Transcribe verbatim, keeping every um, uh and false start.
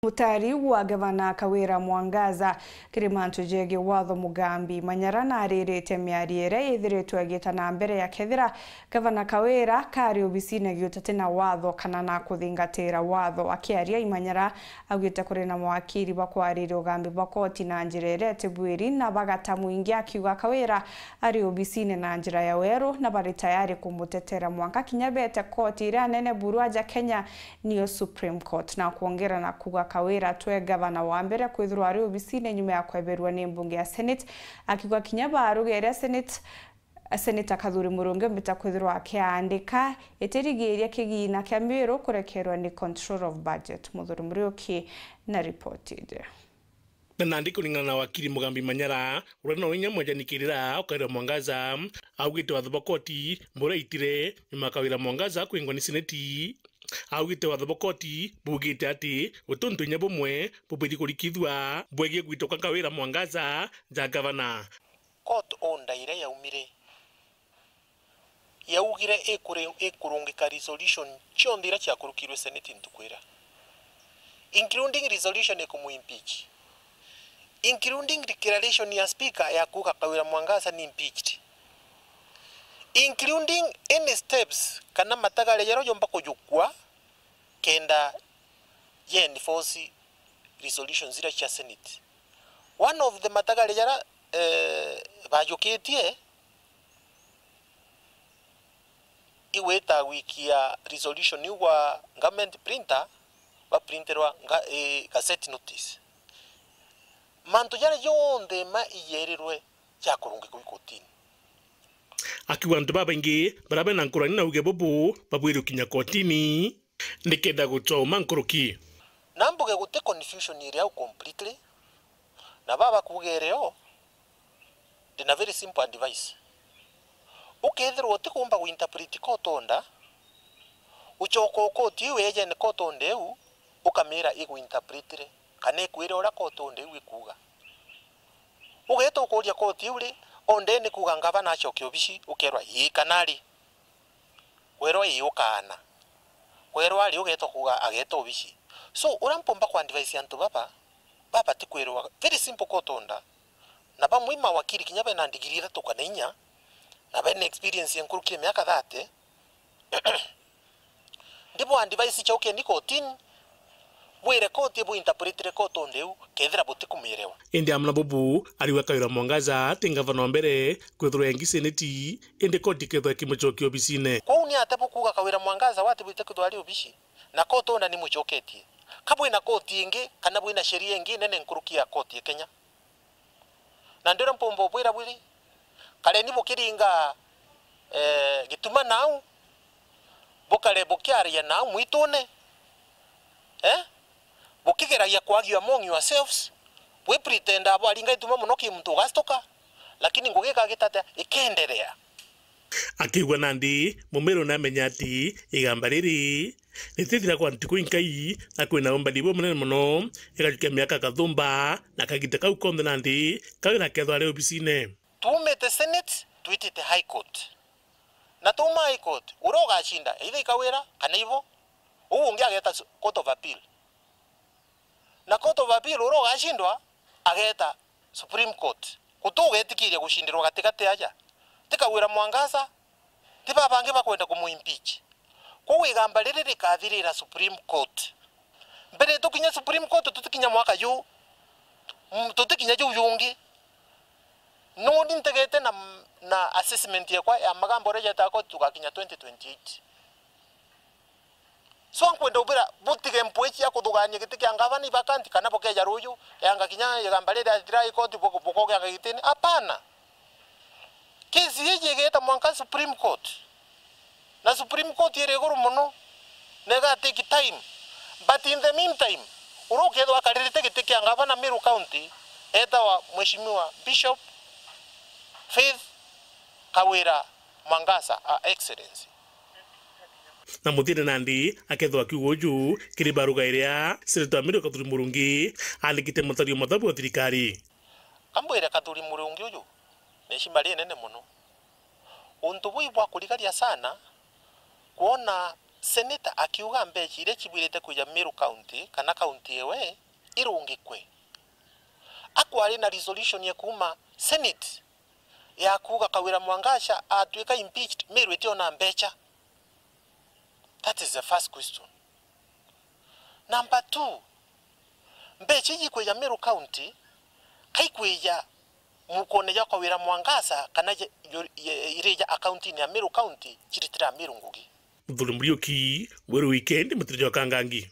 Mutari wa Gavana Kawira Mwangaza kiri mantu jegie watho, Mugambi Manyara naririte miario iria ithiritwe igita na mbere ya kethira Gavana Kawira kari obisine giutati na watho kana na kuthingatira watho. Akiaria, Imanyara augite kuri na mawakiri bakwariria ugambi bwa koti na njira iria itibwiri na bagata mwingi, akiuga Kawira ari obisine na njira ya weru na bari tayari kumutetera mwanka kinya bete koti iria nene buru aja Kenya, niyo Supreme Court, na kwongera na kuuga Kawira twe gavana wa mbere kwithirwa ari obisine nyuma ya kweberua ni mbunge ya Senate, akiuga kinya baruga iria Senate Seneta Kathuri Murungi ombita kwithirwa akiaandika itirigiiria kigina kia Miru kurekerwa ni Control of Budget. Muthuri Muriuki na ripoti iji. Na nandi kuringana na wakiri Mugambi Manyara, uria no inya mwejanikirira ukaira Mwangaza, augite watho bwa koti buria itire nyuma Kawira Mwangaza kwingwa ni Seneti. Augite watho bwa koti bugite ati guti untu inya bumwe bubwiri kurikithua bwegie gwitwa kwa Kawira Mwangaza ja gavana. Court order iria yaumire, yaugire ikuri-, ikurungika resolution cionthe iria ciakurukirwe Senate ntuku iria, including resolution ikumu impeach, including declaration ya speaker ya kuuga Kawira Mwangaza ni impeached, including any steps kana matagaria jaria jomba kujukua kenda ya enforce resolutions iria cia Senate. One of the matagaria jaria, eh, bajukitie igwita gwikia resolution iu gwa government printer, baprinterwa nga-, eh, gazette notice. Mantu jaria jonthe ma iyerirwe jakurungikwa i kotini. Akiuga antu babaingi baria bena nkurani na uge bubu babwirwe kinya kotini nikenda gutua uma nkuruki. Na mbuge guti confusion iri au completely, na baba kuugere o, ndina very simple advice. Ukethirwa utikumba guinterpret court order, ucoka ukoti iu ejene court order iu, ukamira iguinterpretire, kana ikwire uria court order iu ikuuga. Ugeeta ukuuria koti iu ri, onde ni kuuga ngavana acoke obici, ukeerwa ii kana ari. Kwerwa ii ukaana. Kwerwa ari ugeeta kuuga ageeta obici. So, uria mpumba ku advise antu baba, baba ti kwerwa very simple court order. Na bamwe i mawakiri kinya bena ndigiri ithatu kana inya, na bena experience ya nkuruki ya miaka thirty, ndibu advise cokeni kotini, bwire koti bu interpretire court order iu, kethira butikumirewa. Indi amwe na bubu, ariuga Kawira Mwangaza ti ngavana wa mbere kwithirwa engi seneti, indi koti ikethirwa ikimucokia obisine. Kwou ni atia bukuuga Kawira Mwangaza wati bwite kwithirwa ari obici, na court order ni mucoketie? Ka bwina koti ingi, kana bwina sheria ingi nene nkuruki ya koti ya Kenya? Na ndiria mpumba ubwira bwiri, kareni bukiringa, eh, gituma nau, bukare bukiaria nau mwitune, eh? Bukigeragia ku argue among yourselves, bwi pretend abo aringa gituma mono ki muntu ugastuka, lakini ngugi ikagita atia? Ikenderea. Akiigua nandi, Mumiru namenya ati igamba riri ritithira kwa ntuku inkai, na kwina umbani bumunene mono, igajukia miaka kathumba, na kagita kau konthe nandi, Kawira akethwa ari obisine. Tuumite Senate, twitite High Court. Na tuuma High Court, uria ugacinda, either i Kawira, kana ibo, uu ungi ageeta su-, Court of Appeal. Na Court of Appeal uria ugacindwa, ageeta Supreme Court. Guti ugetikiria gucindirwa gatigati aja. Ti Kawira Mwangaza, ti babangi bakwenda kumu impeach. Kwou igamba riri rikathirira Supreme Court. Mbere tukinya Supreme Court, tutikinya mwaka juu, mm, tutikinya juu jungi. Nuni ntegete na, na assessment yakwa ya magamba uria jetaga koti tugakinya twenty twenty-eight. So, nkwenda ubira butige mpwi cia kuthugania giti kia ngavana i vacant, kana bukeja ruju, yanga kinya igamba riria athira i koti, buko-, bukogeanga gitini. Apana. Kesi iji igeta mwanka Supreme Court. Na Supreme Court iri iguru mono, na iga take time. But in the meantime, uria ukethwa akaririte giti kia ngavana Meru County, etawa Mheshimiwa Bishop Faith Kawira Mwangaza, a Excellency. Na muthiene nandi akethwa akiuga uju kiri baruga iria Senator Amiri Kathuri Murungi aandikite mutario mathabu wa thirikari. Kambwire Kathuri Murungi uju ni ishima rinene mono. Untu buu ibwa kurigaria sana, kwona Senator akiuga mbeca iria cibwirite kwija Meru County kana county ewe irungikwe. Akwari na resolution ya kuuma Senate ya kuuga Kawira Mwangacha atwika impeached, Meru itiona mbeca. That is the first question. Number two, mbeca iji ikwija Meru County, kaikwija mukone ja Kawira Mwangacha kana je-, yo-, ye-, irija accountini ya Meru County, ciritira Meru ngugi. Muthuri Muriuki, Weru Weekend, Mutiri jwa Kangangi.